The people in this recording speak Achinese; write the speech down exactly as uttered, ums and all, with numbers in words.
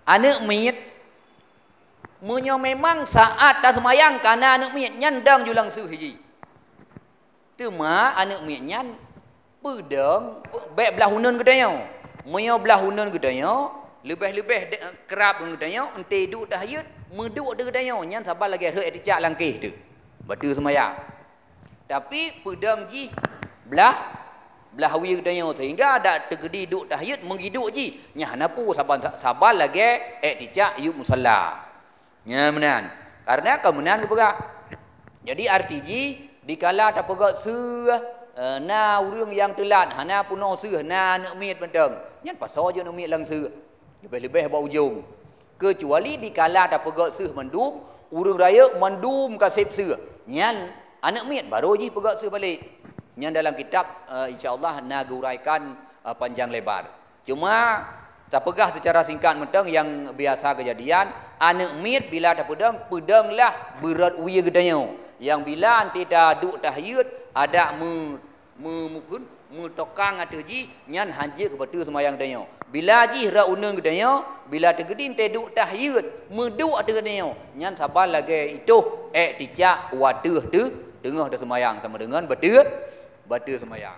Aneuk miet, meunyoe memang saát taseumayang kana aneuk miet nyan dang ju langseuh jih. Teuma aneuk miet nyan peudong bèk blaih uneun geutanyoe. Meunyoe blaih uneun geutanyoe, leubeh-leubeh de-, krab ngon geutanyoe, eunteuk duek tahiyat, meuduek teuh geutanyoe, nyan saban lagèe rhot iktikaf lam kèh teuh. Bateue seumayang. Tapi peudong jih blaih, blaih wie geutanyoe, sehingga adak teukeudi duek tahiyat meugiduek jih. Nyan hana peue saban, saban lagèe iktikaf yub musalla. Nyan meunan. Karena ka meunan geupeugah. Jadi arti jih, dikala tapeugöt seuh, eh, na ureueng nyang teulat, hana peunoh seuh, na aneuk miet mantong. Nyan pasoe jih aneuk miet langseuh. Leubeh-leubeh bak ujong. Keucuali dikala tapeugöt seuh mandum, ureueng rayeuk mandum ka sép seuh. Nyan aneuk miet barô jih peugöt seuh balek. Nyan dalam kitab, eh, insya Allah na geuuraikan, eh, panjang lebar. Cuma, tapeugah seucara singkat mantong nyang biasa keujadian, aneuk miet bila tapeudong, peudonglah beurot wie geutanyoe. Nyang bila aunteuk taduek tahiyat, adak meu-, meu-, meuphon, meutokang ateueh jih, nyan hanjeuet keu bateue seumayang geutanyoe. Bila jih rhot uneun geutanyoe, bila teukeudi aunteuk duek tahiyat, meuduek ateueh geutanyoe, nyan saban lagèe itôh iktikaf watèe teu-, teungoh taseumayang sama deungon bateue, bateue seumayang.